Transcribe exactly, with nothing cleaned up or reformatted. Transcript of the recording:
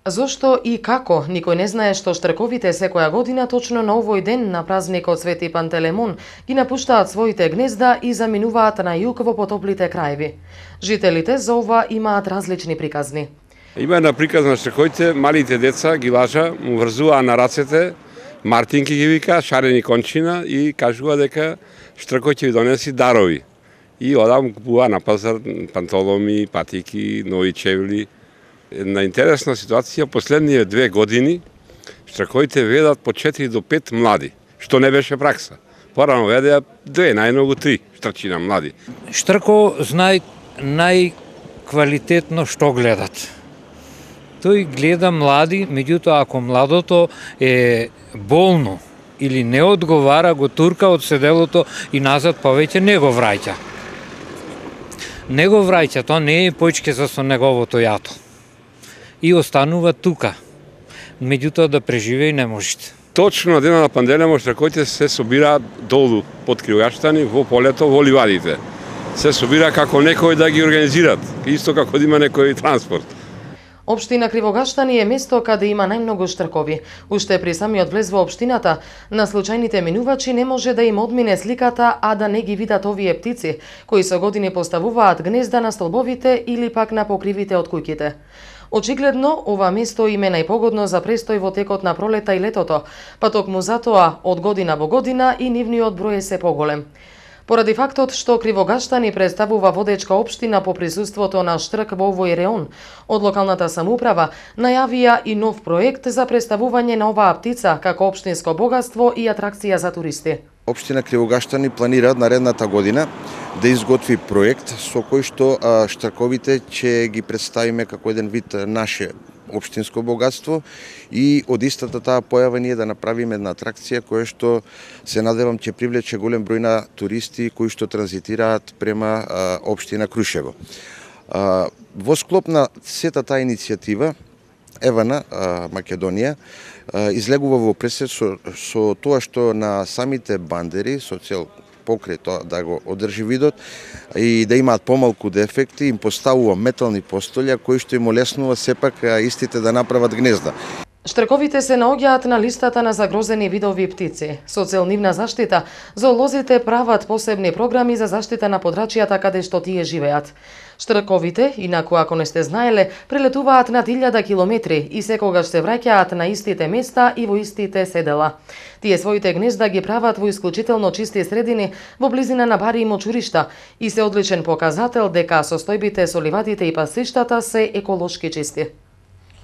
Зошто и како, никој не знае што штрковите секоја година точно на овој ден на празникот Свети Пантелемон ги напуштаат своите гнезда и заминуваат на југ во потоплите краеви. Жителите за ова имаат различни приказни. Има една приказна на штрковите, малите деца ги лажа, му врзуваа на рацете, мартинки ги вика, шарени кончина и кажува дека штркот ќе ви донеси дарови. И одам купува на пазар пантоломи, патики, нови чевли. Една интересна ситуација, последние две години штрковите ведат по четири до пет млади, што не беше пракса. Порано ведеа две, најмногу три штрчина млади. Штрко знае најквалитетно што гледат. Тој гледа млади, меѓутоа ако младото е болно или не одговара, го турка од седелото и назад повеќе не го враќа. Не го враќа, тоа не е поичке за со неговото јато. И останува тука. Меѓутоа да преживее не можете. Точно на денот на Пантелемон штрковите се собираат долу под Кривогаштани во полето во ливадите. Се собира како некој да ги организират, исто како да има некој транспорт. Општина Кривогаштани е место каде има најмногу штркови. Уште при самиот влез во општината, на случајните минувачи не може да им одмине сликата, а да не ги видат овие птици, кои со години поставуваат гнезда на столбовите или пак на покривите од куќите. Очигледно, ова место им е најпогодно за престој во текот на пролета и летото, па токму затоа од година во година и нивниот број е се поголем. Поради фактот што Кривогаштани представува водечка општина по присуството на штрк во овој реон, од локалната самоуправа најавија и нов проект за представување на оваа птица како општинско богатство и атракција за туристи. Општина Кривогаштани планира наредната година да изготви проект со кој што штрковите ќе ги представиме како еден вид наше општинско богатство и од истата таа појава ние да направиме една атракција која што се надевам ќе привлече голем број на туристи кои што транзитираат према а, општина Крушево. А, во склоп на сета таа иницијатива Евана, а, Македонија, а, излегува во пресед со, со тоа што на самите бандери, со цел покрај тоа да го одржи видот и да имаат помалку дефекти, им поставува метални постолја кои што им олеснува сепак истите да направат гнезда. Штрковите се наоѓаат на листата на загрозени видови птици. Со цел нивна заштита, зоолозите прават посебни програми за заштита на подрачјата каде што тие живеат. Штрковите, инаку ако не сте знаеле, прелетуваат над илјада километри и секогаш се враќаат на истите места и во истите седела. Тие своите гнезда ги прават во исклучително чисти средини во близина на бари и мочуришта и се одличен показател дека состојбите со ливадите и пасиштата се еколошки чисти.